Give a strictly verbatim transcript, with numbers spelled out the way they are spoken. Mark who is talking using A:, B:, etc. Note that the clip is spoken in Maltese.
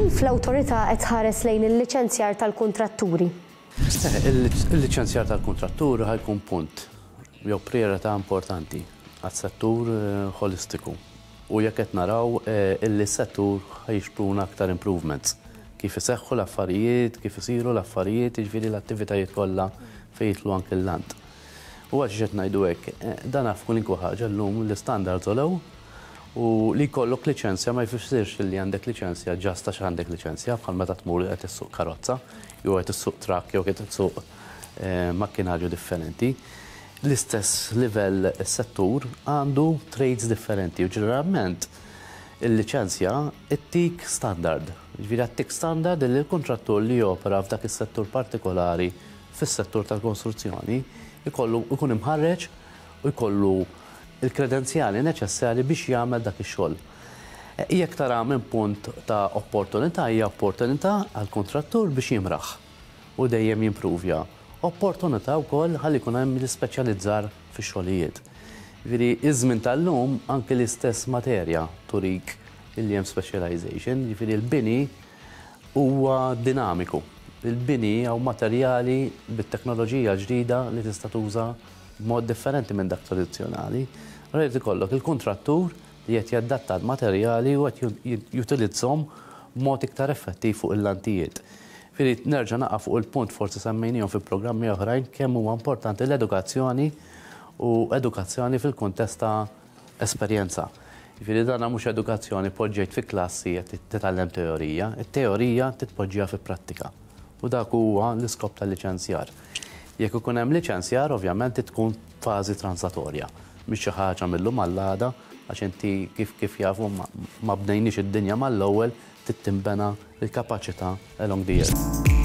A: Kif l-awtorità qed tħares lejn il-liċenzjar tal-kuntratturi?
B: Eh, il-liċenzjar tal-kuntratturi ħa jkun punt jew priorità importanti għas-settur eh, holistiku. U jekk qed naraw eh, illi s-settur ħa jixpruna aktar improvements. Kif iseħħu l-affarijiet, kif isiru l-affarijiet, jiġifieri l-attivitajiet kollha fejn jidħlu anke l-lant. U għax qed ngħidu hekk, eh, dan f'kwalunkwe ħaġa llum l-standards għolew u li jkollok liċenzja ma jfissirx li għandek liċenzja just għax għandek liċenzja, bħal meta tmur qed issuq karozza, jew qed issuq truck, jew qed issuq eh, makkinarju differenti. L-istess livell, settur għandu trades differenti u ġeneralment il-liċenzja ittik standard. Ġifieri għattik standard li l-kontrattur li jopera f'dak is-settur partikolari, fis-settur tal-konstruzzjoni, jkollu ikun imħarreġ u jkollu il-kredenzjali neċessarji biex jagħmel dak ix-xogħol. Jekk tara minn punt ta' opportunità, hija opportunità għall-kontrattur biex jimraħ u dejjem jimpruvja. Opportunità wkoll ħalli jkun hemm l-ispeċjalizzar fix-xogħlijiet. Ġifieri iż-żmien tal-lum anke l-istess materja turik illi hemm specialization, ġifieri l-bini huwa dinamiku. Il-bini hawn materjali bit-teknoloġija ġdida li tista' tuża b'mod differenti minn dak tradizzjonali. Rrid ikollok il-kontrattur li qed jadatta l-materjali u qed jutilizzhom b'mod iktar effettiv fuq il-lantijiet. Ġifieri nerġa' naqa' fuq il-punt, forsi semmejnihom fi programmi oħrajn, kemm huwa importanti l-edukazzjoni u edukazzjoni fil-kuntest ta' esperjenza. Ġifieri dana mhux edukazzjoni poġġejt fi klassi qed titgħallem teorija, it-teorija titpoġġiha fi prattika. U dak huwa l-iskop tal-liċenzjar. Jekk ikun hemm liċenzjar, ovvjament tkun fażi transatorja. Mhix xi ħaġa mill-lum għall-għada, għax inti kif kif jafu ma bnejniex id-dinja mal-ewwel, trid tinbena l-kapaċità along the years.